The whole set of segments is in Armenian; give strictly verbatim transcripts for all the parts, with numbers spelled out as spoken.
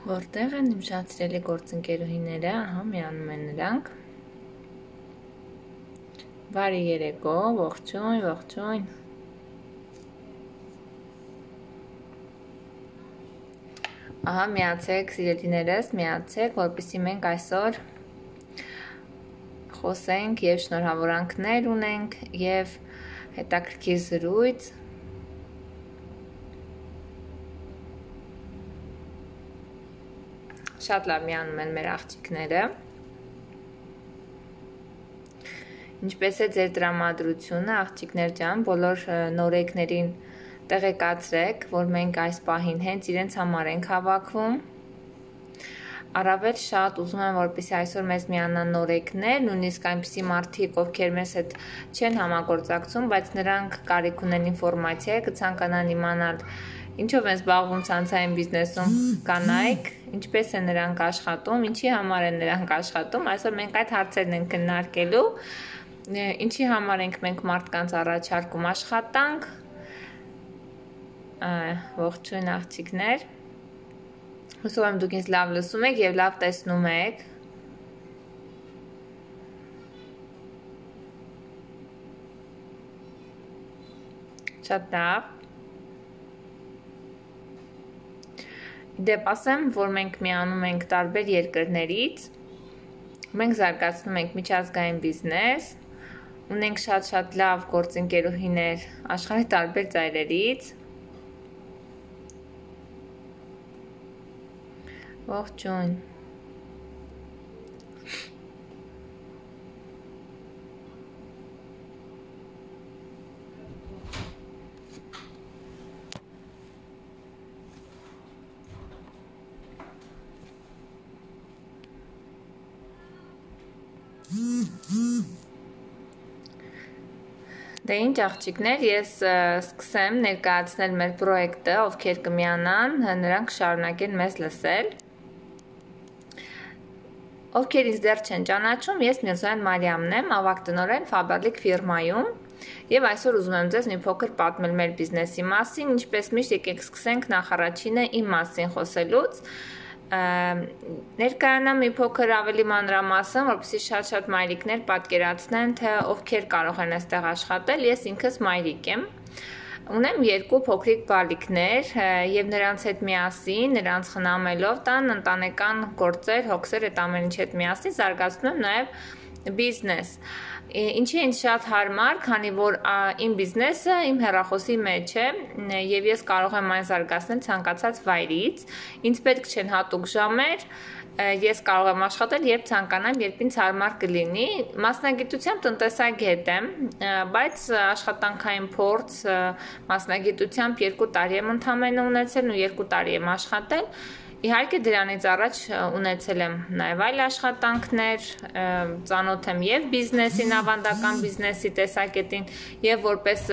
Որտեղ են իմ շատ սիրելի գործընկերուհիները, ահա միանում են նրանք։ Բարի երեկո, ողջույն, ողջույն։ Ահա միացեք սիրելիներս, միացեք, որպեսզի մենք այսօր խոսենք եւ շնորհավորանքներ ունենք եւ հետաքրքիր զրույց։ Շատ լավ միանում են մեր աղջիկները։ Ինչպես է ձեր տրամադրությունը, աղջիկներ ջան, բոլոր նորեկներին տեղեկացրեք, որ մենք այս պահին հենց իրենց համար ենք հավաքվում։ Առավել շատ ուզում եմ, որպեսզի այսօր մեզ միանան նորեկներ, նույնիսկ այնպիսի մարդիկ, ովքեր մեզ հետ չեն համագործակցում, բայց նրանք կարիք ունեն ինֆորմացիա, կցանկանան իմանալ ինչով են զբաղվում ցանցային բիզնեսում կանայք, ինչպես են նրանք աշխատում, ինչի համար են նրանք աշխատում, այսօր մենք այդ հարցերն ենք քննարկելու, ինչի համար ենք մենք մարդկանց առաջարկում աշխատանք, ողջույն աղջիկներ, հուսով եմ դուք ինձ լավ լսում եք և լավ տեսնում եք, շատ լավ, Դեպ ասեմ, որ մենք միանում ենք տարբեր երկրներից, մենք զարգացնում ենք միջազգային բիզնես, ունենք շատ-շատ լավ գործընկերուհիներ աշխարհի տարբեր ծայրերից, ողջույն, Դե ինչ աղջիկներ, ես սկսեմ ներկայացնել մեր պրոյեկտը, ովքեր կմիանան, նրանք շարունակեն մեզ լսել։ Ովքեր ինձ դեռ չեն ճանաչում, ես Միրզոյան Մարիամն եմ, ավագ տնօրեն Faberlic ֆիրմայում, եւ այսօր ուզում եմ ձեզ մի փոքր պատմել մեր բիզնեսի մասին, ինչպես միշտ եկեք սկսենք նախարարինը իմ մասին խոսելուց։ Ներկայանամ մի փոքր ավելի մանրամասն, որպեսզի շատ-շատ մայրիկներ պատկերացնեն, թե ովքեր կարող են այստեղ աշխատել, ես ինքս մայրիկ եմ, ունեմ երկու փոքրիկ բալիկներ եւ նրանց հետ միասին, նրանց խնամելով տան ընտանեկան գործեր, հոգսեր, այդ ամեն ինչ հետ միասին զարգացնում եմ նաեւ բիզնես։ Ինչի ինձ շատ հարմար, քանի որ իմ բիզնեսը իմ հեռախոսի մեջ է եւ ես կարող եմ այն զարգացնել ցանկացած վայրից, ինձ պետք չեն հատուկ ժամեր, ես կարող եմ աշխատել երբ ցանկանամ, երբ ինձ հարմար կլինի, մասնագիտությամբ տնտեսագետ եմ, բայց աշխատանքային փորձ մասնագիտությամբ երկու տարի եմ ընդամենը ունեցել ու երկու տարի եմ աշխատել, Իհարկե դրանից առաջ ունեցել եմ նաև այլ աշխատանքներ, ծանոթ եմ եւ բիզնեսին, ավանդական բիզնեսի տեսակետին եւ որպես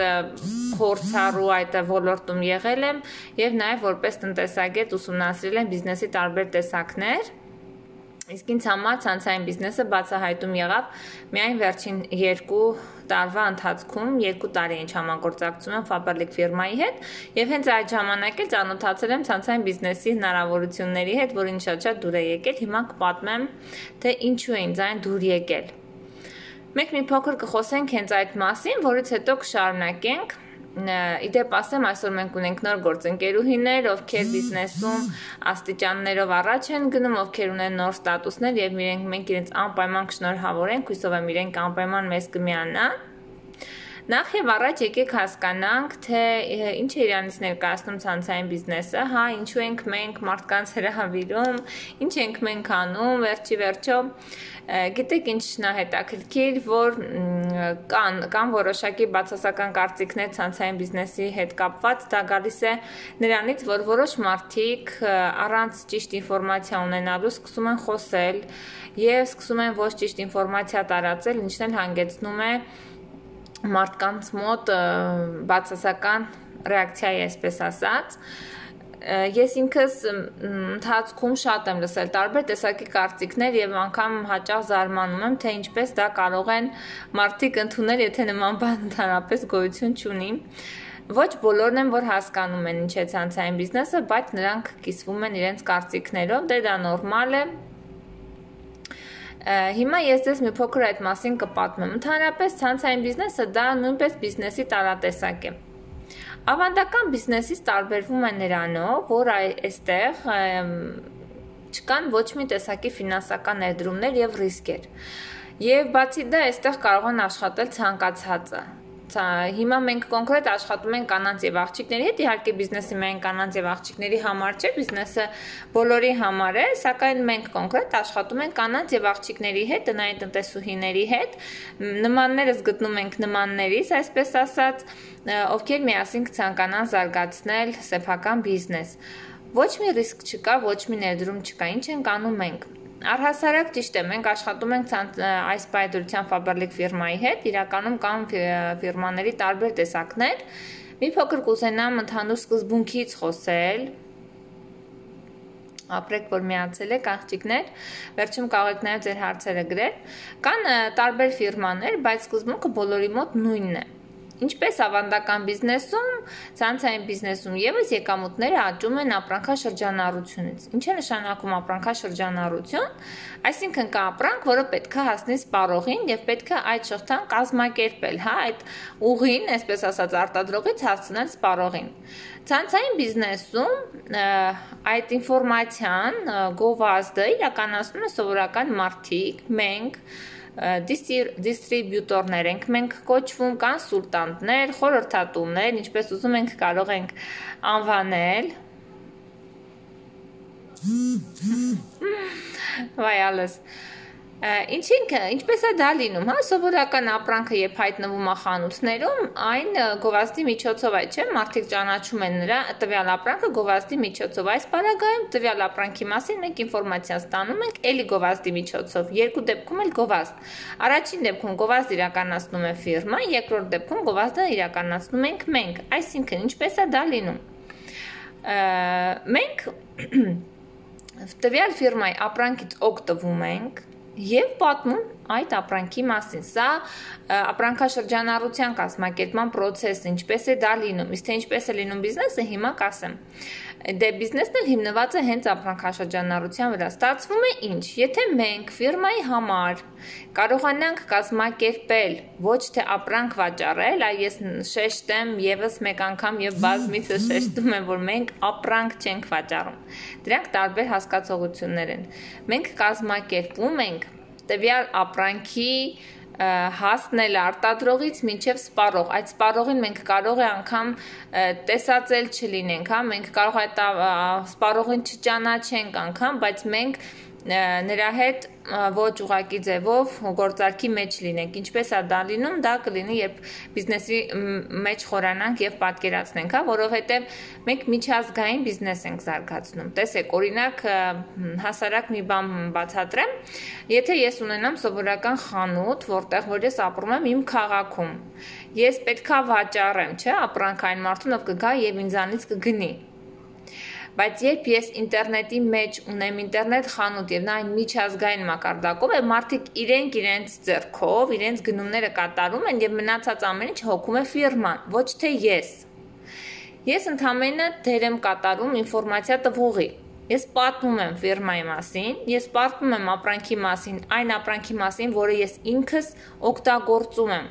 փորձառու այդ ոլորտում եղել եմ եւ նաև որպես տնտեսագետ ուսումնասիրել եմ բիզնեսի տարբեր տեսակներ։ Իսկ ինձ համար ցանցային բիզնեսը բացահայտում եղավ միայն վերջին երկու տարվա ընթացքում, երկու տարի ինչ համագործակցում եմ Faberlic ֆիրմայի հետ եւ հենց այդ ժամանակ էլ ծանոթացել եմ ցանցային բիզնեսի հնարավորությունների հետ, որին շատ-շատ դուր է եկել, հիմա կպատմեմ, թե ինչու է ինձ այն դուր եկել։ Մենք մի փոքր կխոսենք հենց այդ մասին, որից հետո կշարունակենք Իդեպ ասեմ, այսօր մենք ունենք նոր գործընկերուհիներ, ովքեր բիզնեսում աստիճաններով առաջ են գնում, ովքեր ունեն նոր ստատուսներ եւ մենք իրենց անպայման կշնորհավորենք, հույսով եմ իրենք անպայման մեզ կմիանան։ Նախ եւ առաջ եկեք հասկանանք, թե ինչ է իրանից ներկայացնում ցանցային բիզնեսը, հա, ինչու ենք մենք մարդկանց հրավիրում, ինչ ենք մենք անում, վերջի վերջո Գիտեք ինչն է հետաքրքիր, որ կան, կան որոշակի բացասական կարծիքներ ցանցային բիզնեսի հետ կապված, դա գալիս է նրանից, որ որոշ մարդիկ առանց ճիշտ ինֆորմացիա ունենալու սկսում են խոսել եւ սկսում են ոչ ճիշտ ինֆորմացիա տարածել, ինչն էլ հանգեցնում է մարդկանց մոտ բացասական ռեակցիայի, այսպես ասած, ես ինքս ընթացքում շատ եմ լսել տարբեր տեսակի կարծիքներ եւ անգամ հաճախ զարմանում եմ, թե ինչպես դա կարող են մարդիկ ընդունել, եթե նման բան ընդհանրապես գոյություն չունի։ Ոչ բոլորն են, որ հասկանում են ինչ է ցանցային բիզնեսը, բայց նրանք կիսվում են իրենց կարծիքներով, դե դա նորմալ է։ Հիմա ես ձեզ մի փոքր այդ մասին կպատմեմ։ Ընդհանրապես ցանցային բիզնեսը դա նույնպես բիզնեսի տարատեսակ է։ Ավանդական բիզնեսից տարբերվում է նրանով, որ այստեղ չկան ոչ մի տեսակի ֆինանսական ներդրումներ եւ ռիսկեր։ Եվ բացի դա, այստեղ կարող են աշխատել ցանկացածը։ Հիմա մենք կոնկրետ աշխատում ենք կանանց եւ աղջիկների հետ, իհարկե բիզնեսը միայն կանանց եւ աղջիկների համար չէ, բիզնեսը բոլորի համար է, սակայն մենք կոնկրետ աշխատում ենք կանանց եւ աղջիկների հետ, տնային տնտեսուհիների հետ, նմաններս գտնում ենք նմաններից, այսպես ասած, ովքեր միասին կցանկանան զարգացնել սեփական բիզնես։ Ոչ մի ռիսկ չկա, ոչ մի ներդրում չկա, ինչ ենք անում մենք։ Առհասարակ ճիշտ է, մենք աշխատում ենք այս պայծրության Faberlic ֆիրմայի հետ, իրականում կան ֆիրմաների տարբեր տեսակներ։ Մի փոքր կուզենամ ընդհանուր սկզբունքից խոսել։ Ապրեք, որ միացել եք աղջիկներ, վերջում կարող եք նաև ձեր հարցերը գրել։ Կան տարբեր ֆիրմաներ, բայց սկզբունքը բոլորի մոտ նույնն է։ Ինչպես ավանդական բիզնեսում, ցանցային բիզնեսում եւս եկամուտները աճում են ապրանքաշրջանառությունից։ Ինչ է նշանակում ապրանքաշրջանառություն? Այսինքն կա ապրանք, որը պետք է հասնի սպառողին եւ պետք է այդ շղթան կազմակերպել, հա, այդ ուղին, այսպես ասած, արտադրողից հասցնել սպառողին։ Ցանցային բիզնեսում այդ ինֆորմացիան գովազդը իրականացնում է սովորական մարդիկ, մենք դիստրիբյուտորներ ենք մենք կոչվում, կոնսուլտանտներ, խորհրդատուներ, ինչպես ուզում ենք կարող ենք անվանել։ Վայալս։ Ինչինք, ինչպես է դա լինում, հա, սովորական ապրանքը երբ հայտնվում է խանութներում, այն գովազդի միջոցով է, չէ՞, մարդիկ ճանաչում են նրա տվյալ ապրանքը գովազդի միջոցով։ Այս բaragայում տվյալ ապրանքի մասին մենք ինֆորմացիա ստանում ենք էլի գովազդի միջոցով։ Երկու դեպքում էլ գովազդ։ Առաջին դեպքում գովազդ իրականացնում է ֆիրման, երկրորդ դեպքում գովազդը իրականացնում ենք մենք։ Այսինքն, ինչպես է դա լինում։ Մենք տվյալ ֆիրմայի ապրանքից օգտվում ենք եւ պատմում այդ ապրանքի մասին։ Սա ապրանքաշրջանառության կազմակերպման process-ը, ինչպես է դա լինում, իսկ թե ինչպես է լինում բիզնեսը, հիմա կասեմ։ Դե բիզնեսն էլ հիմնված է հենց ապրանքաշրջանառության վրա։ Ստացվում է ինչ, եթե մենք ֆիրմայի համար կարողանանք կազմակերպել ոչ թե ապրանք վաճառել, այ ես շեշտեմ եւս մեկ անգամ եւ բազմիցս շեշտում եմ, որ մենք ապրանք չենք վաճառում։ Դրանք տարբեր հասկացողություններ են։ Մենք կազմակերպում ենք տվյալ ապրանքի հասնել արտադրողից մինչև սպառող։ Այդ սպառողին մենք կարող է անգամ տեսածել չլինենք, հա, մենք կարող է սպառողին չճանաչենք անգամ, բայց մենք նրա հետ ոչ ուղակի ձևով գործարքի մեջ լինենք։ Ինչպես է դա լինում, դա կլինի, երբ բիզնեսի մեջ խորանանք եւ պատկերացնենք, հա, որովհետեւ մենք միջազգային բիզնես ենք զարգացնում։ Տեսեք, օրինակ, հասարակ մի բան բացատրեմ, եթե ես ունենամ սովորական խանութ, որտեղ որ ես ապրում եմ իմ քաղաքում, ես պետքա վաճառեմ, չէ՞, ապրանք այն մարդուն, ով կգա եւ ինձանից կգնի։ Բայց երբ ես ինտերնետի մեջ ունեմ ինտերնետ խանութ եւ նա այն միջազգային մակարդակով է, մարդիկ իրենք իրենց ձեռքով, իրենց գնումները կատարում են եւ մնացած ամեն ինչ հոգում է ֆիրման, ոչ թե ես։ Ես ընդհանրապես դեր եմ կատարում ինֆորմացիա տվողի։ Ես պատմում եմ ֆիրմայի մասին, ես պատմում եմ ապրանքի մասին, այն ապրանքի մասին, որը ես ինքս օգտագործում եմ,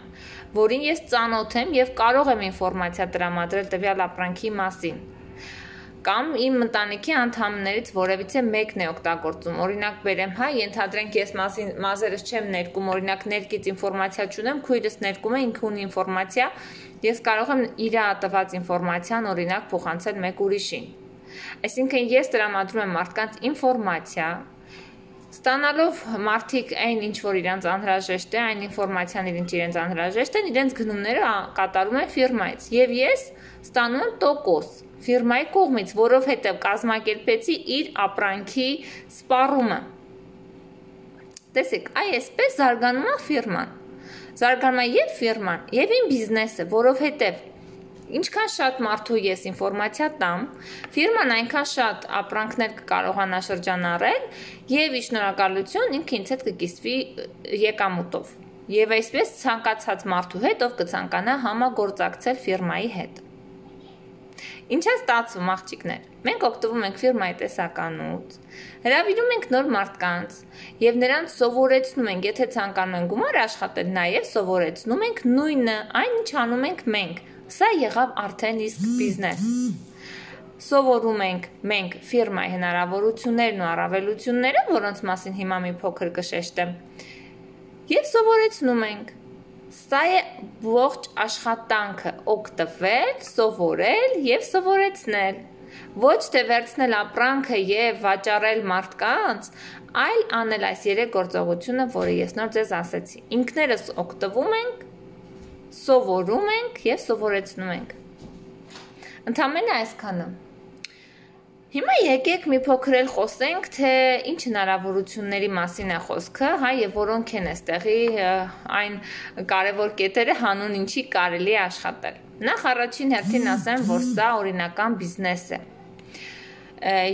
որին ես ծանոթ եմ եւ կարող եմ ինֆորմացիա տրամադրել տվյալ ապրանքի մասին։ Կամ իմ ընտանիքի անդամներից որևիցե մեկն է օգտագործում։ Օրինակ բերեմ, հա, ենթադրենք ես մասին մազերս չեմ ներկում, օրինակ ներկից ինֆորմացիա չունեմ, քույրս ներկում է, ինքը ունի ինֆորմացիա, ես կարող եմ իր տված ինֆորմացիան օրինակ փոխանցել մեկ ուրիշին։ Այսինքն ես տրամադրում եմ մարդկանց ինֆորմացիա, ստանալով մարդիկ այն ինչ որ իրենց անհրաժեշտ է, այն ինֆորմացիան ինչ իրենց անհրաժեշտ է, իրենց գնումները կատարում են ֆիրմայից, եւ ես ստանում եմ տոկոս ֆիրմայի կողմից, որովհետև կազմակերպեցի իր ապրանքի սպառումը։ Տեսեք, այսպես զարգանում է ֆիրման։ Զարգանում է եւ ֆիրման, եւ իմ բիզնեսը, որովհետև ինչքան շատ մարդու ես ինֆորմացիա տամ, ֆիրման այնքան շատ ապրանքներ կկարողանա շրջանառել եւ ի շնորհակալություն ինքը ինձ հետ կկիսվի եկամուտով։ Եվ այսպես ցանկացած մարդու հետ, ով կցանկանա համագործակցել ֆիրմայի հետ։ Ինչ է ստացվում, աղջիկներ։ Մենք օգտվում ենք ֆիրմայի տեսականուց, հրավիրում ենք նոր մարդկանց եւ նրանց սովորեցնում ենք, եթե ցանկանում են գումար աշխատել, նաեւ սովորեցնում ենք նույնը, այն ինչ անում ենք մենք։ Սա եղավ արդեն իսկ բիզնես։ Սովորում ենք մենք ֆիրմայի հնարավորություններն ու առավելությունները, որոնց մասին հիմա մի փոքր կշեշտեմ, եւ սովորեցնում ենք։ Սա է ողջ աշխատանքը օգտվել, սովորել եւ սովորեցնել։ Ոչ թե վերցնել ապրանքը եւ վաճառել մարդկանց, այլ անել այս երեք գործողությունը, որը ես նոր ձեզ ասեցի։ Ինքներս օգտվում ենք, սովորում ենք եւ սովորեցնում ենք։ Ընդամենը այսքանը։ Հիմա եկեք մի փոքր էլ խոսենք, թե ինչ հնարավորությունների մասին է խոսքը, հա, եւ որոնք են այստեղի այն կարևոր կետերը, հանուն ինչի կարելի է աշխատել։ Նախ առաջին հերթին ասեմ, որ սա օրինական բիզնես է։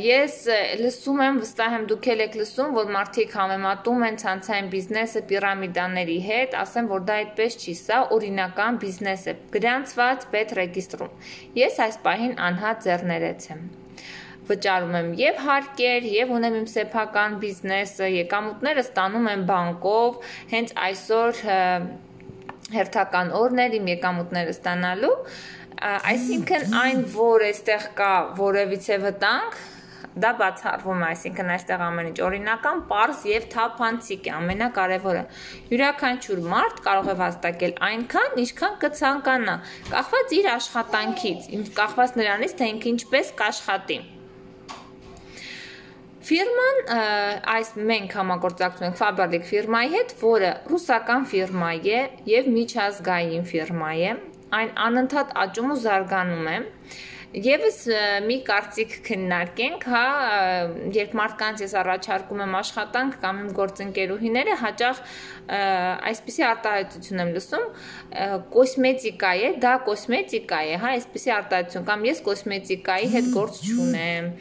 Ես լսում եմ, վստահ եմ դուք եք լսում, որ մարդիկ համեմատում են ցանցային բիզնեսը պիրամիդաների հետ, ասեմ, որ դա այդպես չի, սա օրինական բիզնես է, գրանցված պետ ռեգիստրում։ Ես այս պահին անհատ ձեռներեց եմ։ Վճարում եմ եւ հարկեր, եւ ունեմ իմ սեփական բիզնեսը, եկամուտները ստանում եմ բանկով, հենց այսօր հերթական օրն էր իմ եկամուտները ստանալու, այսինքն այն, որ այստեղ կա որևիցե վտանգ, դա բացառվում է, այսինքն այստեղ ամեն ինչ օրինական, պարզ եւ թափանցիկ է, ամենակարևորը։ Յուրաքանչյուր մարդ կարող է վաստակել այնքան, ինչքան կցանկանա, կախված իր աշխատանքից, կախված նրանից, թե ինքը ինչպես կաշխատի։ Ֆիրման, այս մենք համագործակցում ենք Faberlic ֆիրմայի հետ, որը ռուսական ֆիրմա է եւ միջազգային ֆիրմա է, այն անընդհատ աճում ու զարգանում է։ Եվս մի կարծիք քննարկենք, հա, երբ մարդկանց ես առաջարկում եմ աշխատանք կամ իմ գործընկերուհիները հաճախ այսպիսի արտահայտություն եմ լսում, կոսմետիկա է, դա կոսմետիկա է, հա, այսպիսի արտահայտություն կամ ես կոսմետիկայի հետ գործ չունեմ,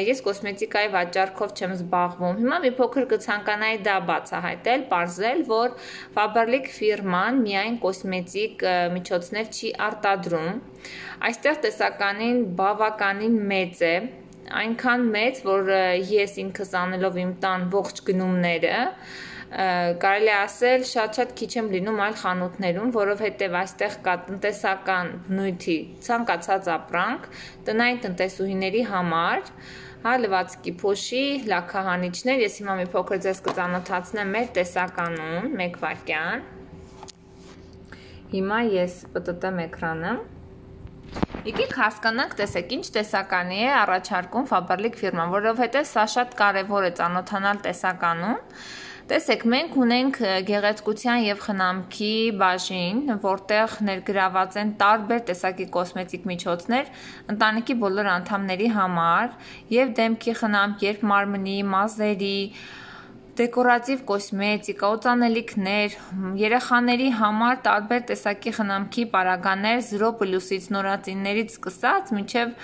ես կոսմետիկայի վաճառքով չեմ զբաղվում։ Հիմա մի փոքր կցանկանայի դա բացահայտել, պարզել, որ Faberlic ֆիրման միայն կոսմետիկ միջոցներ չի արտադրում։ Այստեղ տեսականին բավականին մեծ է, այնքան մեծ, որ ես ինքս անելով իմ տան ողջ գնումները, կարելի ասել շատ-շատ քիչ եմ լինում այլ խանութներում, որովհետև այստեղ կա տնտեսական բնույթի ցանկացած ապրանք, տնային տնտեսուհիների համար, հա, լվացքի փոշի, լաքահանիչներ, ես հիմա մի փոքր ձեզ կծանոթացնեմ մեր տեսականուն, մեկ վայրկյան։ Հիմա ես պտտեմ էկրանը։ Եկեք հասկանանք, տեսեք, ինչ տեսականի է առաջարկում Faberlic ֆիրման, որովհետև սա շատ կարևոր է ծանոթանալ տեսականուն։ Տեսեք, մենք ունենք գեղեցկության եւ խնամքի բաժին, որտեղ ներգրաված են տարբեր տեսակի կոսմետիկ միջոցներ ընտանիքի բոլոր անդամների համար եւ դեմքի խնամք, երբ մարմնի, մազերի, դեկորատիվ կոսմետիկա, օծանելիքներ, երեխաների համար տարբեր տեսակի խնամքի պարագաներ զրո պլյուսից նորածիններից սկսած մինչև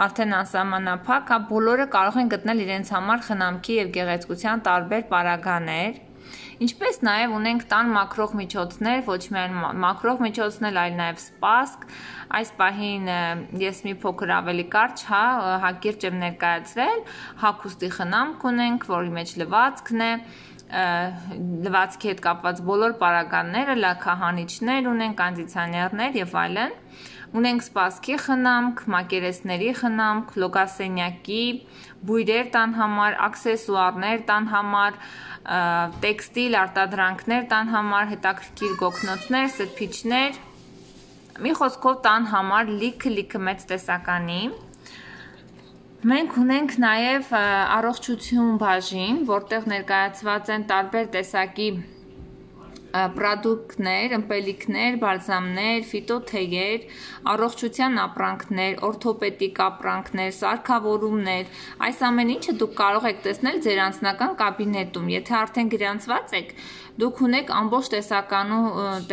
արդեն անսահմանափակ, հա, բոլորը կարող են գտնել իրենց համար խնամքի եւ գեղեցկության տարբեր պարագաներ։ Ինչպես նաև ունենք տան մաքրող միջոցներ, ոչ միայն մաքրող միջոցներ, այլ նաև սպասք։ Այս պահին ես մի փոքր ավելի կարճ, հա, հակիրճ եմ ներկայացրել, հագուստի խնամք ունենք, որի մեջ լվացքն է, լվացքի հետ կապված բոլոր պարագաները, լաքահանիչներ ունենք, կոնդիցիոներներ եւ այլն։ Ունենք սպասքի խնամք, մակերեսների խնամք, լոգասենյակի, բույրեր տան համար, աքսեսուարներ տան համար, տեքստիլ արտադրանքներ տան համար, հետաքրքիր գոգնոցներ, սրբիչներ, մի խոսքով տան համար լիքը-լիքը մեծ տեսականի։ Մենք ունենք նաև առողջություն բաժին, որտեղ ներկայացված են տարբեր տեսակի պրոդուկտներ, ըմպելիքներ, բալզամներ, ֆիտոթեյեր, առողջության ապրանքներ, օրթոպեդիկ ապրանքներ, սարքավորումներ, այս ամեն ինչը դուք կարող եք տեսնել ձեր անձնական կաբինետում, եթե արդեն գրանցված եք, դուք ունեք ամբողջ տեսականու,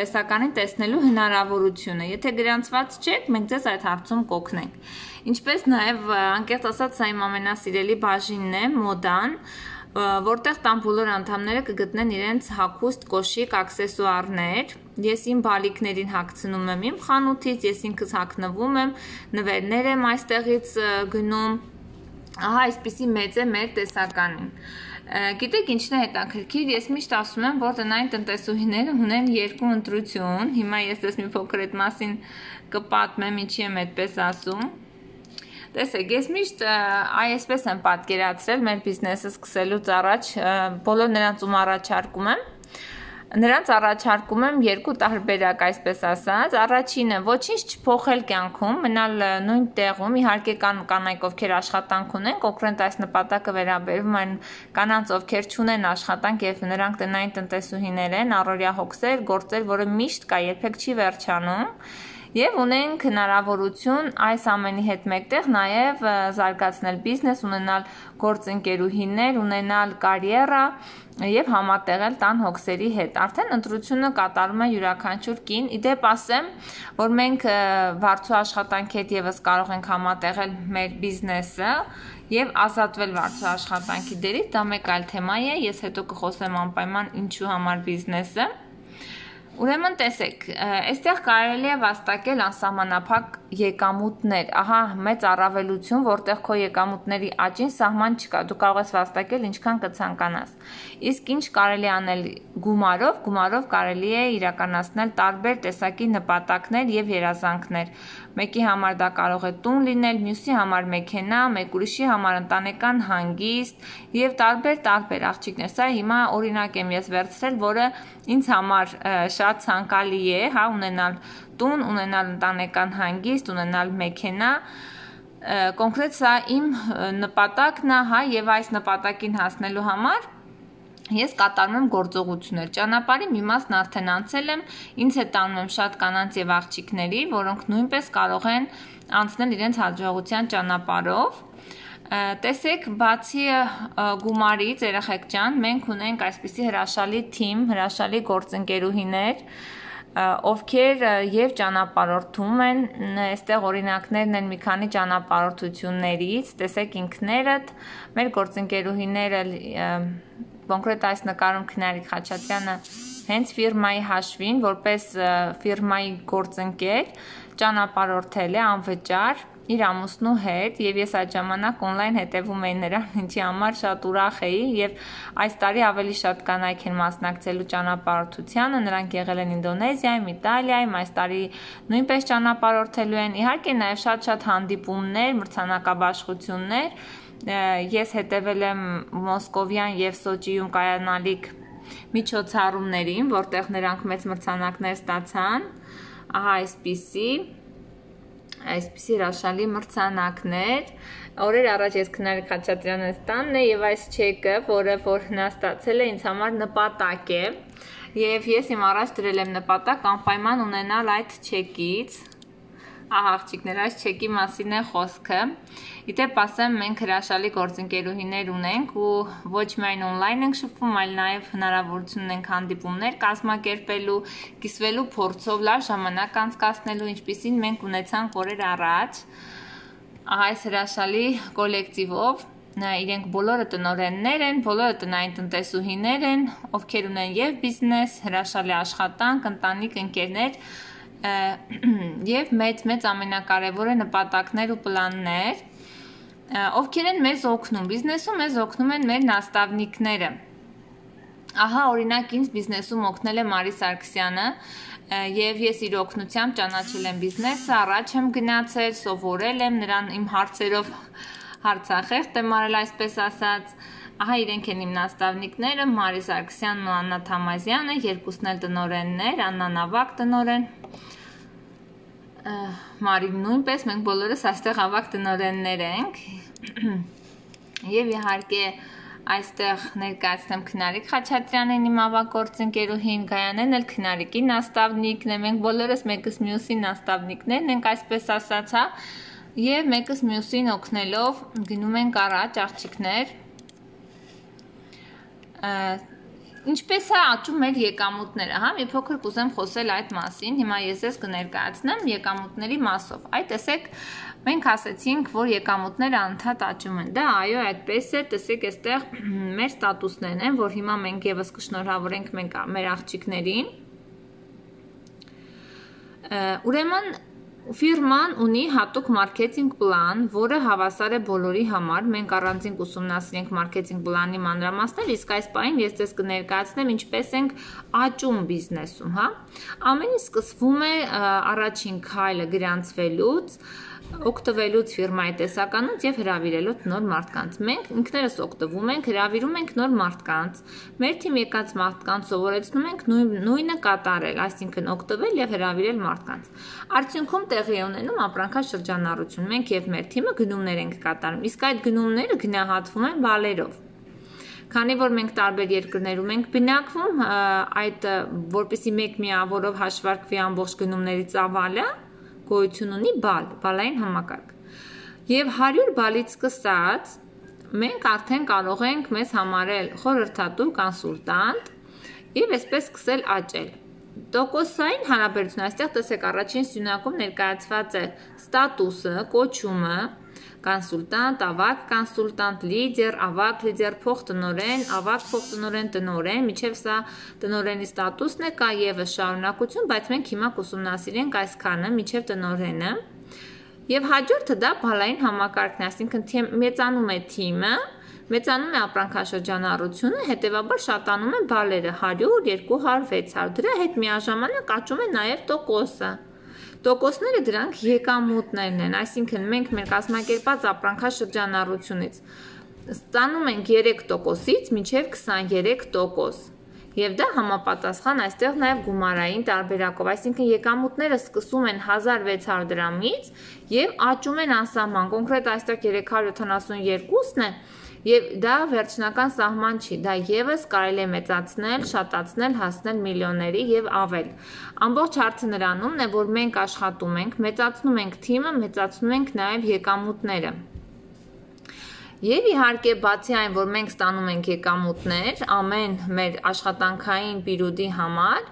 տեսականին տեսնելու հնարավորությունը, եթե գրանցված չեք, մենք ձեզ այդ հարցում կօգնենք, ինչպես նաև անկեղծ ասած սա իմ ամենասիրելի բաժինն է, մոդան, որտեղ տան բոլոր անդամները կգտնեն իրենց հագուստ կոշիկ աքսեսուարներ։ Ես իմ բալիկներին հագցնում եմ իմ խանութից, ես ինքս հագնվում եմ, նվերներ եմ այստեղից գնում։ Ահա այսպիսի մեծ է մեր տեսականին։ Գիտեք ինչն է հետաքրքիր, ես միշտ ասում եմ, որ տնային տնտեսուհիները ունեն երկու ընտրություն, հիմա ես դες մի փոքր այդ մասին կպատմեմ, ինչի եմ այդպես ասում։ Տեսեք, ես միշտ այսպես եմ պատկերացրել մեր բիզնեսը սկսելուց առաջ, բոլոր նրանց ում առաջարկում եմ, նրանց առաջարկում եմ երկու տարբերակ, այսպես ասած, առաջինը ոչինչ չփոխել կյանքում, մնալ նույն տեղում, իհարկե կան կանայք, ովքեր աշխատանք ունեն, կոնկրետ այս նպատակը վերաբերում այն կանանց, ովքեր չունեն աշխատանք եւ նրանք տնային տնտեսուհիներ են, առօրյա հոգսեր, գործեր, որը միշտ կա, երբեք չի վերջանում։ Եվ ունենք հնարավորություն այս ամենի հետ մեկտեղ նաև զարգացնել բիզնես, ունենալ գործընկերուհիներ, ունենալ կարիերա եւ համատեղել տան հոգսերի հետ։ Արդեն ընտրությունը կատարում է յուրաքանչյուր կին։ Իդեպ ասեմ, որ մենք վարձու աշխատանքի հետ եւս կարող ենք համատեղել մեր բիզնեսը եւ ազատվել վարձու աշխատանքի դերից, դա մեկ այլ թեմա է, ես հետո կխոսեմ անպայման ինչու համար բիզնեսը։ Ուրեմն տեսեք, այստեղ կարելի է վաստակել անսահմանափակ եկամուտներ, ահա մեծ առավելություն, որտեղ քո եկամուտների աճին սահման չկա, դու կարող ես վաստակել ինչքան կցանկանաս։ Իսկ ինչ կարելի անել գումարով, գումարով կարելի է իրականացնել տարբեր տեսակի նպատակներ եւ երազանքներ։ Մեկի համար դա կարող է տուն լինել, մյուսի համար մեքենա, մեկ ուրիշի համար ընտանեկան հանգիստ եւ տարբեր տարբեր աղջիկներ։ Սա հիմա օրինակ եմ ես վերցրել, որը ինձ համար շատ ցանկալի է, հա, ունենալ տուն, ունենալ ընտանեկան հանգիստ, ունենալ մեքենա, կոնկրետ սա իմ նպատակն է, հա, եւ այս նպատակին հասնելու համար ես կատարում եմ գործողություններ։ Ճանապարհի մի մասն արդեն անցել եմ, ինձ հետ տանում եմ շատ կանանց եւ աղջիկների, որոնք նույնպես կարող են անցնել իրենց հաջողության ճանապարհով։ Տեսեք, բացի գումարից, երեխեք ջան, մենք ունենք այսպիսի հրաշալի թիմ, հրաշալի գործընկերուհիներ, ովքեր եւ ճանապարհորդում են, այստեղ օրինակներն են մի քանի ճանապարհորդություններից, տեսեք ինքներդ, մեր գործընկերուհիները կոնկրետ այս նկարում Քնարիկ Խաչատրյանը հենց ֆիրմայի հաշվին, որպես ֆիրմայի գործընկեր, ճանապարհորդել է անվճար իր ամուսնու հետ եւ ես այդ ժամանակ on-line հետեւում էի նրան, ինչի համար շատ ուրախ էի եւ այս տարի ավելի շատ կանայք են մասնակցելու ճանապարհորդությանը, նրանք եղել են Ինդոնեզիայում, Իտալիայում, այս տարի նույնպես ճանապարհորդելու են, իհարկե նաեւ շատ-շատ հանդիպումներ, մրցանակաբաշխություններ, ես հետևել եմ Մոսկովյան եւ Սոչիում կայանալիք միջոցառումներին, որտեղ նրանք մեծ մրցանակներ ստացան, ահա այսպիսի այսպիսի հրաշալի մրցանակներ, օրեր առաջ ես Քնարիկ Խաչատրյանը տանն է եւ այս չեկը, որը որ նա ստացել է ինձ համար նպատակ է եւ ես իմ առաջ դրել եմ նպատակ անպայման ունենալ այդ չեկից, ահա աղջիկներ, այս չեկի մասին է խոսքը։ Իդեպ ասեմ, մենք հրաշալի գործընկերուհիներ ունենք ու ոչ միայն on-line ենք շփվում, այլ նաև հնարավորություն ունենք հանդիպումներ կազմակերպելու, կիսվելու փորձով, լավ ժամանակ անցկացնելու, ինչպիսին մենք ունեցանք օրեր առաջ։ Ահա այս հրաշալի կոլեկտիվով, իրենք բոլորը տնօրեններ են, բոլորը տնային տնտեսուհիներ են, ովքեր ունեն եւ բիզնես, հրաշալի աշխատանք, ընտանիք, ընկերներ եւ մեծ-մեծ ամենակարևորը նպատակներ ու պլաններ, ովքեր են մեզ օգնում, բիզնեսում մեզ օգնում են մեր նաստավնիկները։ Ահա օրինակ ինձ բիզնեսում օգնել է Մարի Սարգսյանը եւ ես իր օգնությամբ ճանաչել եմ բիզնեսը, առաջ եմ գնացել, սովորել եմ նրան իմ հարցերով հարցախեղտ եմ արել, այսպես ասած։ Ահա իրենք են իմ նաստավնիկները, Մարի Սարգսյանն ու Աննա Թամազյանը, երկուսն էլ տնօրեններ, Աննան ավագ տնօրեն, Մարին նույնպես, մենք բոլորս այստեղ ավագ տնօրեններ ենք։ Եվ իհարկե այստեղ ներկայացնեմ Քնարիկ Խաչատրյանին, իմ ավագ գործընկերուհին, Գայանեն էլ Քնարիկի նաստավնիկն է, մենք բոլորս մեկս մյուսի նաստավնիկներն ենք, այսպես ասած, հա, եւ մեկս մյուսին օգնելով գնում ենք առաջ, աղջիկներ։ Ինչպես է աճում մեր եկամուտները, հա, մի փոքր կուզեմ խոսել այդ մասին, հիմա ես ես կներկայացնեմ եկամուտների մասով, այ տեսեք, մենք ասեցինք, որ եկամուտները անդադ աճում են, դա այո, այդպես է, տեսեք, այստեղ մեր ստատուսներն են, որ հիմա մենք եւս կշնորհավորենք մենք մեր աղջիկներին, ուրեմն Ֆիրման ունի հատուկ մարքեթինգ պլան, որը հավասար է բոլորի համար, մենք առանձին կուսումնասիրենք մարքեթինգ պլանի մանրամասներ, իսկ այս պահին ես ձեզ կներկայացնեմ ինչպես ենք աճում բիզնեսում, հա։ Ամեն ինչ սկսվում է առաջին քայլը գրանցվելուց, օգտվելուց ֆիրմայի տեսականուց եւ հրավիրելուց նոր մարդկանց։ Մենք ինքներս օգտվում ենք, հրավիրում ենք նոր մարդկանց։ Մեր թիմ եկած մարդկանց սովորեցնում ենք նույնը կատարել, այսինքն օգտվել եւ հրավիրել մարդկանց։ Արդյունքում տեղի ունենում ապրանքաշրջանառություն։ Մենք եւ մեր թիմը գնումներ ենք կատարում, իսկ այդ գնումները գնահատվում են բալերով։ Քանի որ մենք տարբեր երկրներում ենք բնակվում, այդ որպեսզի մեկ միավորով հաշվարկվի ամբողջ գնումների ծավալը, գոյություն ունի բալ, բալային համակարգ։ Եվ հարյուր բալից սկսած մենք արդեն կարող ենք մեզ համարել խորհրդատու կոնսուլտանտ եւ այսպես սկսել աճել։ Տոկոսային հարաբերություն, այստեղ տեսեք առաջին սյունակում ներկայացված է ստատուսը, կոչումը, կոնսուլտանտ, ավագ կոնսուլտանտ, լիդեր, ավագ լիդեր, փոխտնօրեն, ավագ փոխտնօրեն, տնօրեն, միջև սա տնօրենի ստատուսն է, կա եւս շարունակություն, բայց մենք հիմա կուսումնասիրենք այսքանը միջև տնօրենը։ Եվ հաջորդը դա բալային համակարգն է, այսինքն մեծանում է թիմը, մեծանում է ապրանքաշրջանառությունը, հետևաբար շատանում են բալերը հարյուր, երկու հարյուր, վեց հարյուր, դրա հետ միաժամանակ աճում է նաեւ տոկոսը։ Տոկոսները դրանք եկամուտներն են, այսինքն մենք մեր կազմակերպած ապրանքաշրջանառությունից ստանում ենք երեք տոկոսից մինչև քսաներեք տոկոս։ Եվ դա համապատասխան այստեղ նաև գումարային տարբերակով, այսինքն եկամուտները սկսում են հազար վեց հարյուր դրամից եւ աճում են անսահման, կոնկրետ այստեղ երեք հարյուր յոթանասունյոթն է եւ դա վերջնական սահման չի, դա եւս կարելի է մեծացնել, շատացնել, հասնել միլիոնների եւ ավել։ Ամբողջ հարցը նրանումն է, որ մենք աշխատում ենք, մեծացնում ենք թիմը, մեծացնում ենք նաեւ եկամուտները։ Եվ իհարկե բացի այն, որ մենք ստանում ենք եկամուտներ ամեն մեր աշխատանքային պիրոդի համար,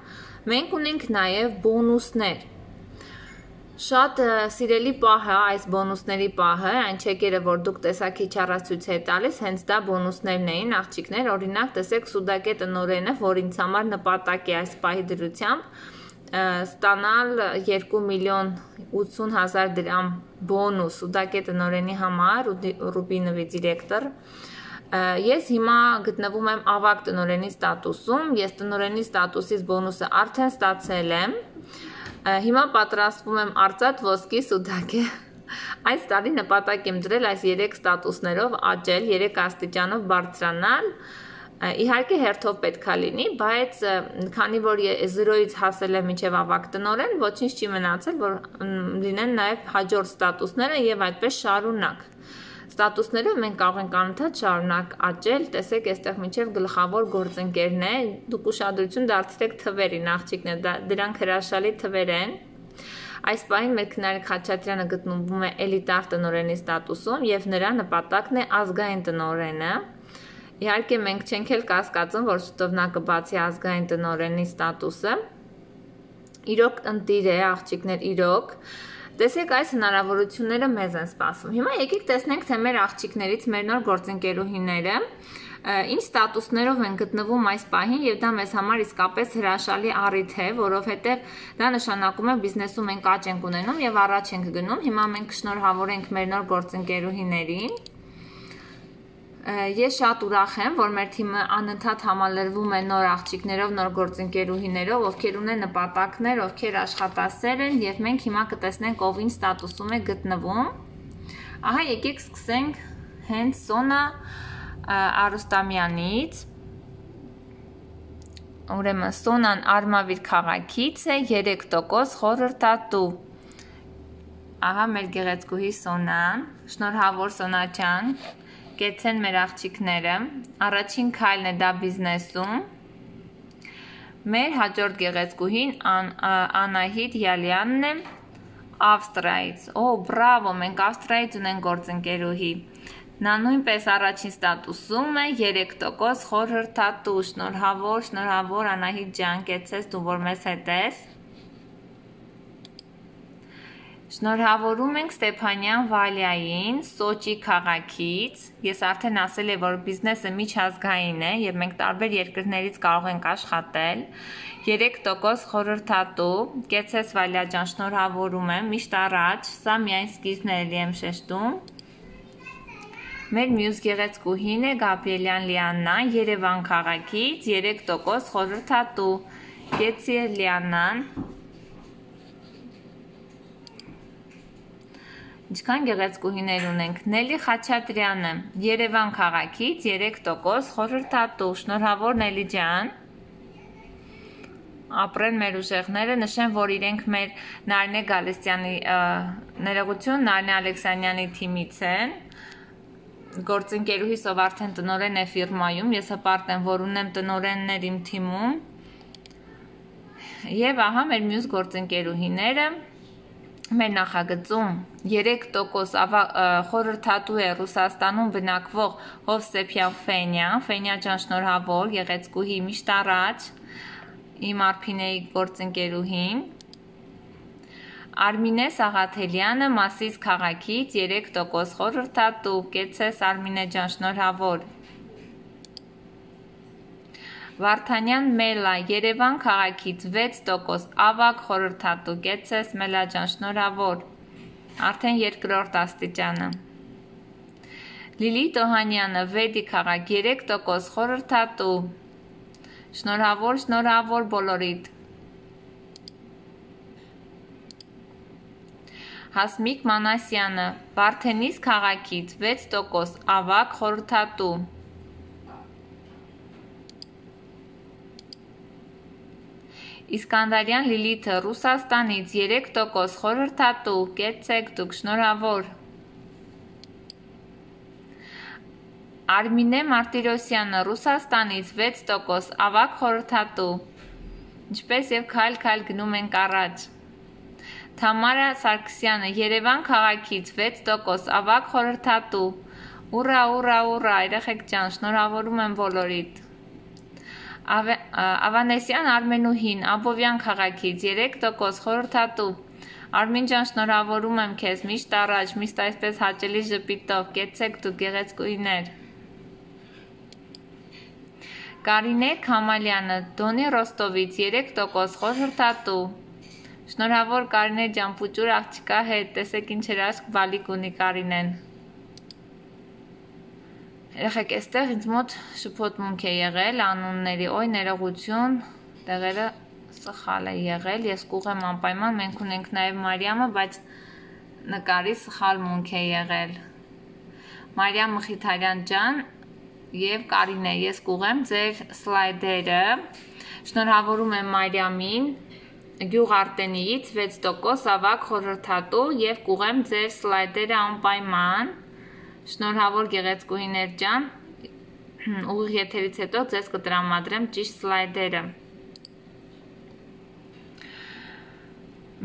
մենք ունենք նաև բոնուսներ։ Շատ սիրելի պահը, այս բոնուսների պահը, այն չեկերը, որ դուք տեսակի չառացույց է տալիս, հենց դա բոնուսներն էին, աղջիկներ, օրինակ տեսեք Սուդակե տնօրենը, որ ինձ համար նպատակ է այս պահի դրությամբ, ստանալ երկու միլիոն ութսուն հազար դրամ բոնուս Սուդակե տնօրենի համար, Ռուբինովի դիրեկտոր, ես հիմա գտնվում եմ ավագ տնօրենի ստատուսում, ես տնօրենի ստատուսից բոնուսը արդեն ստացել եմ, հիմա պատրաստվում եմ արծաթ ոսկի Սուդակե, այս տարի նպատակ եմ դրել այս երեք ստատուսներով աճել, երեք աստիճանով բարձրանալ, իհարկե հերթով պետք է լինի, բայց քանի որ զրոյից հասել եմ մինչև ավագ տնօրեն, ոչինչ չի մնացել, որ լինեն նաև հաջորդ ստատուսները եւ այդպես շարունակ։ Ստատուսներով մենք կարող ենք անընդհատ շարունակ աճել, տեսեք, այստեղ մինչև գլխավոր գործընկերն է, դուք ուշադրություն դարձրեք թվերին, աղջիկներ, դրանք հրաշալի թվեր են։ Այս պահին մեր Քնարիկ Խաչատրյանը գտնվում է էլիտար տնօրենի ստատուսում եւ նրա նպատակն է ազգային տնօրենը։ Իհարկե մենք չենք էլ կասկածում, որ շուտով նա կբացի ազգային տնօրենի ստատուսը։ Իրոք ընտիր է, աղջիկներ, իրոք։ Տեսեք, այս հնարավորությունները մեզ են սպասում։ Հիմա եկեք տեսնենք, թե մեր աղջիկներից մեր նոր գործընկերուհիները ինչ ստատուսներով են գտնվում այս պահին եւ դա մեզ համար իսկապես հրաշալի առիթ է, որովհետեւ դա նշանակում է բիզնեսում մենք աճ ենք ունենում եւ առաջ ենք գնում։ Հիմա մենք կշնորհավորենք մեր նոր գործընկերուհիներին։ Ես շատ ուրախ եմ, որ մեր թիմը անընդհատ համալրվում է նոր աղջիկներով, նոր գործընկերուհիներով, ովքեր ունեն նպատակներ, ովքեր աշխատասեր են եւ մենք հիմա կտեսնենք ով ինչ ստատուսում է գտնվում։ Ահա եկեք սկսենք հենց Սոնա Արուստամյանից։ Ուրեմն Սոնան Արմավիր քաղաքից է, երեք տոկոս խորհրդատու։ Ահա մեր գեղեցկուհի Սոնան, շնորհավոր Սոնա ջան։ Կեցեն մեր աղջիկները, առաջին քայլն է դա բիզնեսում, մեր հաջորդ գեղեցկուհին Անահիտ Յալյանն է Ավստրիայից, օ բրավո, մենք Ավստրիայից ունենք գործընկերուհի, Նա նույնպես առաջին ստատուսում է երեք տոկոս խորհրդատու, շնորհավոր, շնորհավոր Անահիտ ջան, կեցես դու որ մեզ հետ ես։ Շնորհավորում ենք Ստեփանյան Վալյային Սոչի քաղաքից, ես արդեն ասել եմ, որ բիզնեսը միջազգային է և մենք տարբեր երկրներից կարող ենք աշխատել, երեք տոկոս խորհրդատու, կեցես Վալյա ջան, շնորհավորում եմ, միշտ առաջ, սա միայն սկիզբն է, եմ շեշտում։ Մեր մյուս գեղեցկուհին է Գաբրիելյան Լիաննա, Երևան քաղաքից, երեք տոկոս խորհրդատու, կեցի Լիաննան։ Ինչքան գեղեցկուհիներ ունենք, Նելի Խաչատրյանը, Երևան քաղաքից, երեք տոկոս խորհրդատու, շնորհավոր Նելի ջան։ Ապրեն մեր ուժեղները, նշեմ, որ իրենք մեր Նարինե Գալստյանի ներողություն, Նարինե Ալեքսանյանի թիմից են, գործընկերուհիս, ով արդեն տնօրեն է ֆիրմայում, ես հպարտ եմ, որ ունեմ տնօրեններ իմ թիմում, և ահա մեր մյուս գործընկերուհիները, մեր նախագծում երեք տոկոս խորհրդատու է Ռուսաստանում բնակվող Հովսեփյան Ֆենյան, Ֆենյա ջան շնորհավոր, գեղեցկուհի միշտ առաջ, իմ Արփինեի գործընկերուհին, Արմինե Սաղաթելյանը Մասիս քաղաքից երեք տոկոս խորհրդատու, կեցես Արմինե ջան շնորհավոր։ Վարդանյան Մելա Երևան քաղաքից վեց տոկոս ավագ խորհրդատու, կեցես Մելա ջան շնորհավոր, արդեն երկրորդ աստիճանը։ Լիլիթ Օհանյանը Վեդի քաղաք երեք տոկոս խորհրդատու, շնորհավոր, շնորհավոր բոլորիդ։ Հասմիկ Մանասյանը Վարդենիս քաղաքից վեց տոկոս ավագ խորհրդատու։ Իսկանդարյան Լիլիթը Ռուսաստանից երեք տոկոս խորհրդատու, կեցեք դուք շնորհավոր։ Արմինե Մարտիրոսյանը Ռուսաստանից վեց տոկոս ավագ խորհրդատու, ինչպես և քայլ-քայլ գնում ենք առաջ։ Թամարա Սարգսյանը Երևան քաղաքից վեց տոկոս ավագ խորհրդատու, ուռա, ուռա, ուռա, երեխեք ջան, շնորհավորում եմ բոլորիդ։ Ավանեսյան Արմենուհին Աբովյան քաղաքից երեք տոկոս խորհրդատու, Արմին ջան շնորհավորում եմ քեզ, միշտ առաջ, միշտ այսպես հաճելի ժպիտով, կեցեք դուք գեղեցկուհիներ։ Կարինե Քամալյանը Դոնի Ռոստովից երեք տոկոս խորհրդատու, շնորհավոր Կարինե ջան, պուճուր աղջկա հետ, տեսեք ինչ հրաշք բալիկ ունի Կարինեն։ Երեխեք, այստեղ ինձ մոտ շփոթմունք է եղել անունների, օй ներողություն, տեղերը սխալ է եղել, ես կուղեմ անպայման, մենք ունենք նաև Մարիամը, բայց նկարի սխալ մունք է եղել։ Մարիամ Մխիթարյան ջան և Կարինե, ես կուղեմ ձեր սլայդերը, շնորհավորում եմ Մարիամին, Գյուղ Արտենիից վեց տոկոս ավագ խորհրդատու և կուղեմ ձեր սլայդերը անպայման, շնորհավոր գեղեցկուհիներ ջան, ուղիղ եթերից հետո ձեզ կտրամադրեմ ճիշտ սլայդերը։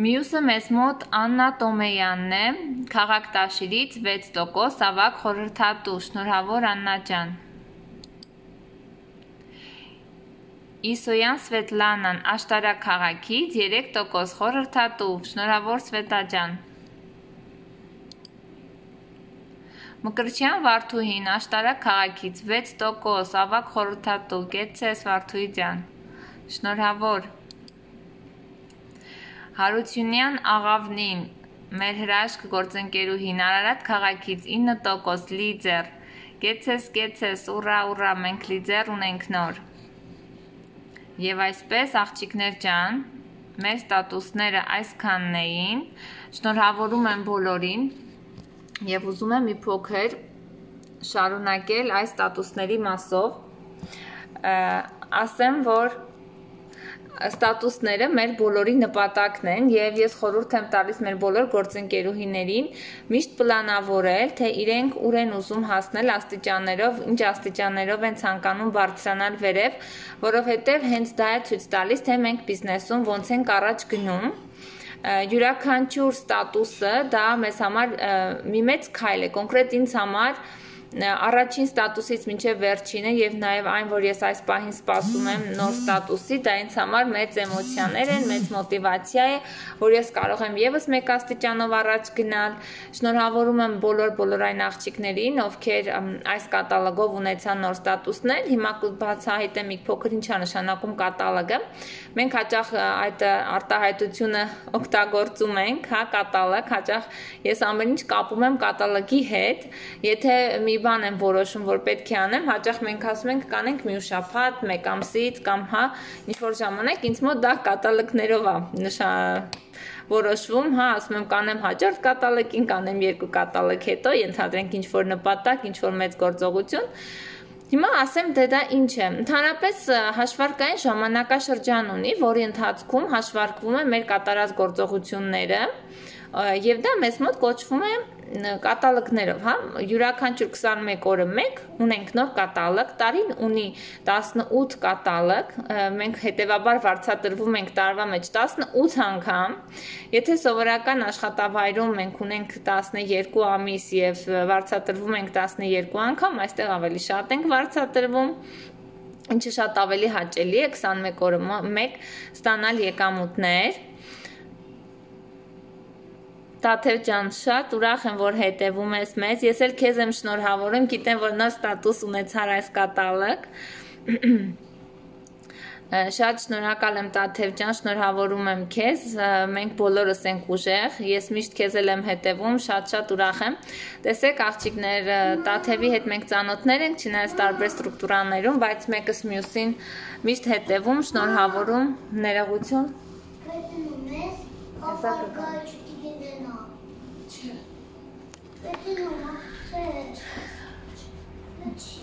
Մյուսը մեզ մոտ Աննա Տոմեյանն է, Քաղաք Տաշիրից վեց տոկոս ավագ խորհրդատու, շնորհավոր Աննա ջան։ Իսոյան Սվետլանան Աշտարակ քաղաքից երեք տոկոս խորհրդատու, շնորհավոր Սվետա ջան։ Մկրտչյան Վարդուհին Աշտարակ քաղաքից վեց տոկոս ավագ խորհրդատու, կեցես Վարդուհի ջան, շնորհավոր։ Հարությունյան Աղավնին մեր հրաշք գործընկերուհին Արարատ քաղաքից ինը տոկոս լիդեր, կեցես, կեցես, ուռա, ուռա, մենք լիդեր ունենք նոր։ Եվ այսպես աղջիկներ ջան, մեր ստատուսները այսքանն էին, շնորհավորում եմ բոլորին և ուզում եմ մի փոքր շարունակել այս ստատուսների մասով, ասեմ, որ ստատուսները մեր բոլորի նպատակն են և ես խորհուրդ եմ տալիս մեր բոլոր գործընկերուհիներին միշտ պլանավորել, թե իրենք ուր են ուզում հասնել աստիճաններով, ինչ աստիճաններով են ցանկանում բարձրանալ վերև, որովհետև հենց դա է ցույց տալիս, թե մենք բիզնեսում ոնց ենք առաջ գնում։ Յուրաքանչյուր ստատուսը դա մեզ համար մի մեծ քայլ է, կոնկրետ ինձ համար առաջին ստատուսից մինչև վերջինը եւ նաեւ այն, որ ես այս պահին սպասում եմ նոր ստատուսի, դա ինձ համար մեծ էմոցիաներ են, մեծ մոտիվացիա է, որ ես կարող եմ եւս մեկ աստիճանով առաջ գնալ։ Շնորհավորում եմ բոլոր բոլոր այն աղջիկներին, ովքեր այս կատալոգով ունեցան նոր ստատուսներ։ Հիմա բացահայտեմ մի փոքր ինչ է նշանակում կատալոգը։ Մենք հաճախ այդ արտահայտությունը օգտագործում ենք, հա, կատալոգ, հաճախ ես ամեն ինչ կապում եմ կատալոգի հետ։ Եթե մի բան եմ որոշում, որ պետք է անեմ, հաճախ մենք ասում ենք կանենք մի շաբաթ, մեկ ամսից կամ հա, ինչ-որ ժամանակ ինձ մոտ դա կատալոգներով է նշա որոշվում, հա, ասում եմ կանեմ հաջորդ կատալոգին, կանեմ երկու կատալոգ հետո, ենթադրենք ինչ-որ նպատակ, ինչ-որ մեծ գործողություն։ Հիմա ասեմ դե դա ինչ է։ Ընդհանրապես հաշվարկային ժամանակաշրջան ունի, որի ընթացքում հաշվարկվում է մեր կատարած գործողությունները, եւ դա մեզ մոտ կոչվում է կատալոգներով, հա, յուրաքանչյուր քսանմեկ օրը մեկ ունենք նոր կատալոգ, տարին ունի տասնութ կատալոգ, մենք հետեւաբար վարձատրվում ենք տարվա մեջ տասնութ անգամ, եթե սովորական աշխատավայրում մենք ունենք տասներկու ամիս եւ վարձատրվում ենք տասներկու անգամ, այստեղ ավելի շատ ենք վարձատրվում, ինչը շատ ավելի հաճելի է քսանմեկ օրը մեկ ստանալ եկամուտներ։ Տաթև ջան, շատ ուրախ եմ, որ հետևում ես մեզ, ես էլ քեզ եմ շնորհավորում, գիտեմ, որ նոր ստատուս ունեցար այս կատալոգ։ Շատ շնորհակալ եմ Տաթև ջան, շնորհավորում եմ քեզ, մենք բոլորս ենք ուժեղ, ես միշտ քեզ էլ եմ հետևում, շատ-շատ ուրախ եմ։ Տեսեք աղջիկներ, Տաթևի հետ մենք ծանոթներ ենք, չնայած տարբեր ստրուկտուրաներում, բայց մեկս մյուսին միշտ հետևում, շնորհավորում, ներողություն։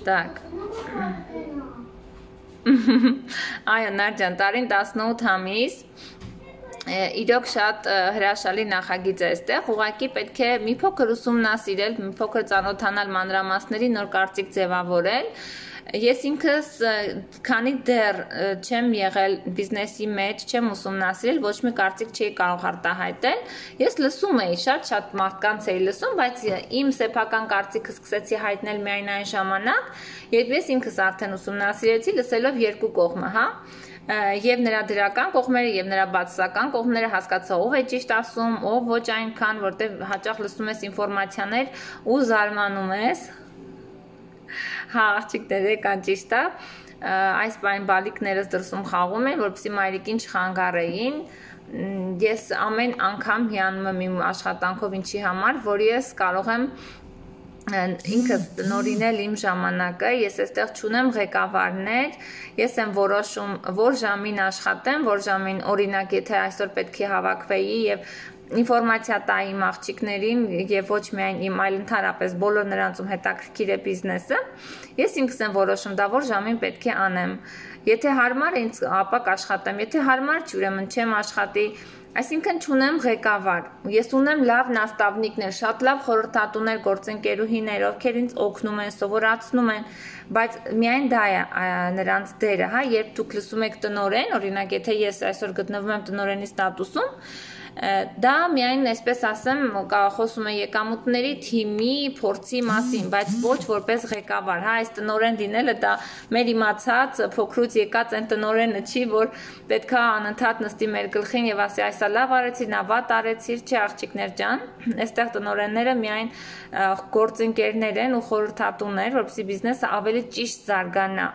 Так. Այո, Նարդյան, տարին տասնութ ամիս, իրոք շատ հրաշալի նախագիծ է այստեղ, ուղղակի պետք է մի փոքր ուսումնասիրել, մի փոքր ծանոթանալ մանրամասների, նոր կարծիք ձևավորել։ Ես ինքս քանի դեռ չեմ եղել բիզնեսի մեջ, չեմ ուսումնասիրել, ոչ մի կարծիք չի կարող արտահայտել։ Ես լսում էի, շատ-շատ մարդկանց էի լսում, բայց իմ սեփական կարծիքը սկսեցի հայտնել միայն այն ժամանակ, երբ ես ինքս արդեն ուսումնասիրեցի, լսելով երկու կողմը, հա։ Եվ նրա դրական կողմերը եւ նրա բացասական կողմերը հասկացա ով է ճիշտ ասում, ով ոչ այնքան, որտեղ հաճախ լսում ես ինֆորմացիաներ ու զարմանում ես։ Հա, աղջիկներ, եկան ճիշտ է, այս բան բալիկներս դրսում խաղում են, որպեսզի մայրիկին չխանգարեին, ես ամեն անգամ հիանում եմ իմ աշխատանքով ինչի համար, որ ես կարող եմ ինքս տնօրինել իմ ժամանակը, ես այստեղ չունեմ ղեկավարներ, ես եմ որոշում, որ ժամին աշխատեմ, որ ժամին, օրինակ, եթե այսօր պետք է հավաքվեի եւ ինֆորմացիա տայի իմ աղջիկներին եւ ոչ միայն իմ, այլ ընդհանրապես բոլոր նրանցում հետաքրքիր է բիզնեսը, ես ինքս եմ որոշում դա որ ժամին պետք է անեմ։ Եթե հարմար է ինձ, ապա կաշխատեմ, եթե հարմար չի, ուրեմն չեմ աշխատի։ Այսինքն չունեմ ղեկավար, ես ունեմ լավ նաստավնիկներ, շատ լավ խորհրդատուներ, գործընկերուհիներ, ովքեր ինձ օգնում են, սովորացնում են, բայց միայն դա է նրանց դերը, հա, երբ դուք լսում եք տնօրեն, օրինակ, եթե ես այսօր գտնվում եմ տնօրենի ստատուսում, դա միայն, այսպես ասեմ, խոսում է եկամուտների թիմի փորձի մասին, բայց ոչ որպես ղեկավար, հա, այս տնօրեն լինելը դա մեր իմացած փոքրուց եկած այն տնօրենը չի, որ պետքա անընդհատ նստի մեր գլխին եւ ասի այսա լավ արեցիր, նա վատ արեցիր, չի աղջիկներ ջան, այստեղ տնօրենները միայն գործընկերներ են ու խորհրդատուներ, որպեսզի բիզնեսը ավելի ճիշտ զարգանա։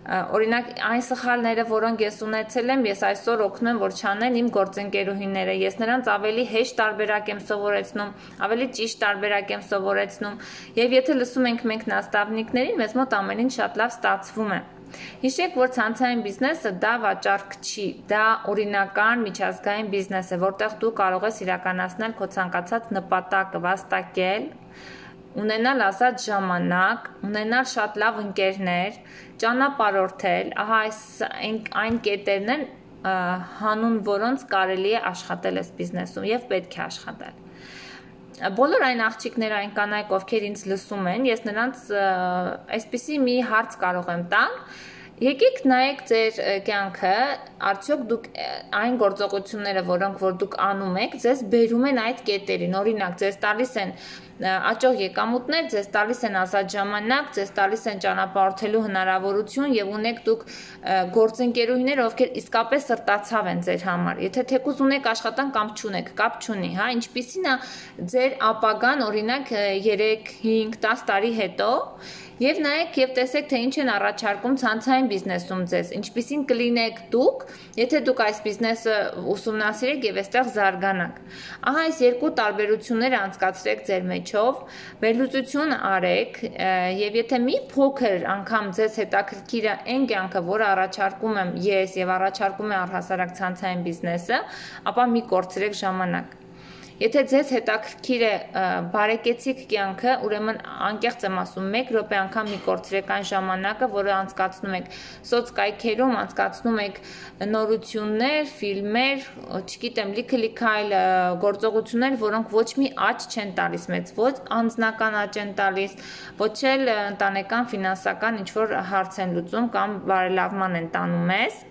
Օրինակ այն սխալները, որոնք ես ունեցել եմ, ես այսօր օգնում որ չանեն իմ գործընկերուհիները, ես նրանց ավելի հեշտ տարբերակ եմ սովորեցնում, ավելի ճիշտ տարբերակ եմ սովորեցնում, եւ եթե լսում ենք մենք նաստավնիկներին, մեզ մոտ ամեն ինչ շատ լավ ստացվում է։ Հիշեք, որ ցանցային բիզնեսը դա վաճառք չի, դա օրինական միջազգային բիզնես է, որտեղ դու կարող ես իրականացնել քո ցանկացած նպատակը, վաստակել, ունենալ ազատ ժամանակ, ունենալ շատ լավ ընկերներ, ճանապարհորդել, ահա այս այն կետերն են, հանուն որոնց կարելի է աշխատել այս բիզնեսում եւ պետք է աշխատել։ Բոլոր այն աղջիկները, այն կանայք, ովքեր ինձ լսում են, ես նրանց այսպիսի մի հարց կարող եմ տալ, Եկեք նայեք ձեր կյանքը, արդյոք դուք այն գործողությունները, որոնք որ դուք անում եք, ձեզ բերում են այդ կետերին, օրինակ ձեզ տալիս են աճող եկամուտներ, ձեզ տալիս են ազատ ժամանակ, ձեզ տալիս են ճանապարհորդելու հնարավորություն եւ ունեք դուք գործընկերուհիներ, ովքեր իսկապես սրտացավ են ձեր համար։ Եթե թեկուզ ունեք աշխատանք կամ չունեք, կապ չունի, հա, ինչպիսին է ձեր ապագան, օրինակ երեք, հինգ, դաս տարի հետո, եւ նայեք եւ տեսեք, թե ինչ են առաջարկում ցանցային բիզնեսում ձեզ, ինչպիսին կլինեք դուք, եթե դուք այս բիզնեսը ուսումնասիրեք եւ այստեղ զարգանաք։ Ահա այս երկու տարբերությունները անցկացրեք ձեր մեջով, վերլուծություն արեք եւ եթե մի փոքր անգամ ձեզ հետաքրքիր է այն կյանքը, որը առաջարկում եմ ես եւ առաջարկում է առհասարակ ցանցային բիզնեսը, ապա մի կորցրեք ժամանակ։ Եթե ձեզ հետաքրքիր է բարեկեցիկ կյանքը, ուրեմն անկեղծ եմ ասում, մեկ րոպե անգամ մի կորցրեք այն ժամանակը, որը անցկացնում եք սոցկայքերում, անցկացնում եք նորություններ, ֆիլմեր, չգիտեմ, լիքը-լիքը այլ գործողություններ, որոնք ոչ մի աճ չեն տալիս մեզ, ոչ անձնական աճ են տալիս, ոչ էլ ընտանեկան ֆինանսական ինչ-որ հարց են լուծում կամ բարելավման են տանում մեզ։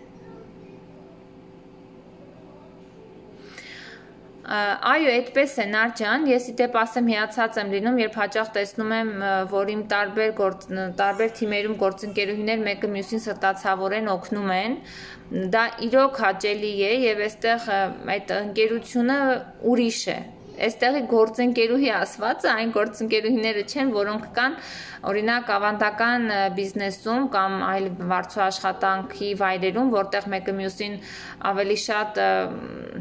Այո, այդպես է Նար ջան, ես իդեպ ասեմ հիացած եմ լինում, երբ հաճախ տեսնում եմ, որ իմ տարբեր տարբեր թիմերում գործընկերուհիներ մեկը մյուսին սրտացավորեն օգնում են, դա իրոք հաճելի է եւ այստեղ այդ ընկերությունը ուրիշ է։ Այստեղի գործընկերուհի ասվածը այն գործընկերուհիները չեն, որոնք կան օրինակ ավանդական բիզնեսում կամ այլ վարձու աշխատանքի վայրերում, որտեղ մեկը մյուսին ավելի շատ,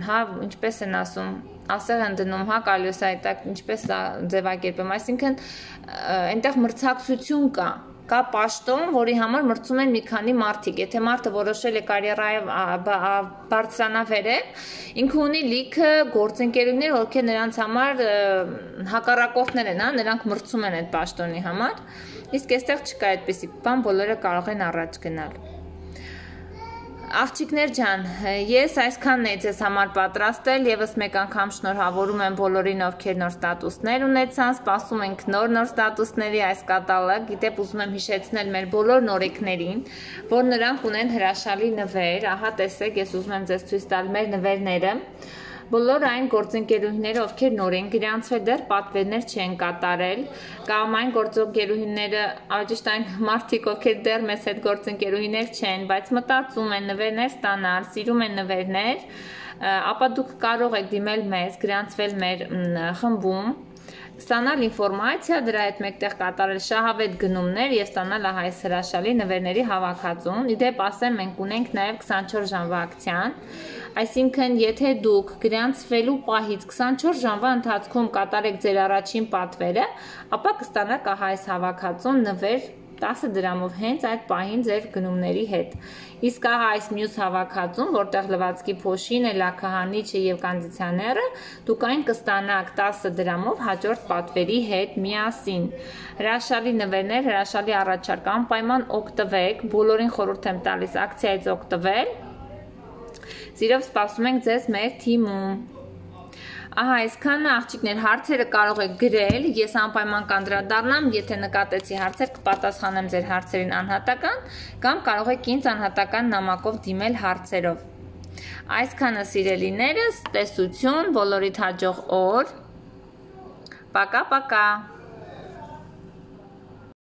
հա, ինչպես են ասում, ասեղ են դնում, հա, կալյոս այդակ, ինչպես ձևակերպեմ, այսինքն այնտեղ մրցակցություն կա, կա պաշտոն, որի համար մրցում են մի քանի մարդիկ, եթե մարդը որոշել է կարիերայով բարձրանա վերև, ինքը ունի լիքը գործընկերուհիներ, ովքեր նրանց համար հակառակորդներ են, հա, նրանք մրցում են այդ պաշտոնի համար, իսկ այստեղ չկա այդպիսի բան, բոլորը կարող են առաջ գնալ։ Աղջիկներ ջան, ես այսքանն էի ձեզ համար պատրաստել, եւս մեկ անգամ շնորհավորում եմ բոլորին, ովքեր նոր ստատուսներ ունեցան, սպասում ենք նոր նոր ստատուսների այս կատալոգ, գիտեք ուզում եմ հիշեցնել մեր բոլոր նորեկներին, որ նրանք ունեն հրաշալի նվեր, ահա տեսեք, ես ուզում եմ ձեզ ցույց տալ մեր նվերները, բոլոր այն գործընկերուհիները, ովքեր նոր են գրանցվել, դեռ պատվերներ չեն կատարել, կամ այն գործընկերուհիները, ճիշտ այն մարդիկ, ովքեր դեռ մեզ հետ գործընկերուհիներ չեն, բայց մտածում են նվերներ ստանալ, սիրում են նվերներ, ապա դուք կարող եք դիմել մեզ, գրանցվել մեր խմբում, ստանալ ինֆորմացիա, դրա հետ մեկտեղ կատարել շահավետ գնումներ եւ ստանալ ահա այս հրաշալի նվերների հավաքածուն։ Իդեպ ասեմ, մենք ունենք նաեւ քսանչորս ժամվա ակցիան, այսինքն եթե դուք գրանցվելու պահից քսանչորս ժամվա ընթացքում կատարեք ձեր առաջին պատվերը, ապա կստանաք ահա այս հավաքածուն նվեր տասը դրամով հենց այդ պահին ձեր գնումների հետ։ Իսկ ահա այս մյուս հավաքածուն, որտեղ լվացքի փոշին է, լաքահանիչը եւ կոնդիցիոները, դուք այն կստանաք տասը դրամով հաջորդ պատվերի հետ միասին։ Հրաշալի նվերներ, հրաշալի առաջարկ, անպայման օգտվեք, բոլորին խորհուրդ եմ տալիս ակցիայից օգտվել։ Սիրով սպասում ենք ձեզ մեր թիմում։ Ահա այսքանը աղջիկներ, հարցերը կարող եք գրել, ես անպայման կանդրադառնամ, եթե նկատեցի հարցեր կպատասխանեմ ձեր հարցերին անհատական, կամ կարող եք ինձ անհատական նամակով դիմել հարցերով։ Այսքանը սիրելիներս, տեսություն, բոլորիդ հաջող օր, պակա-պակա։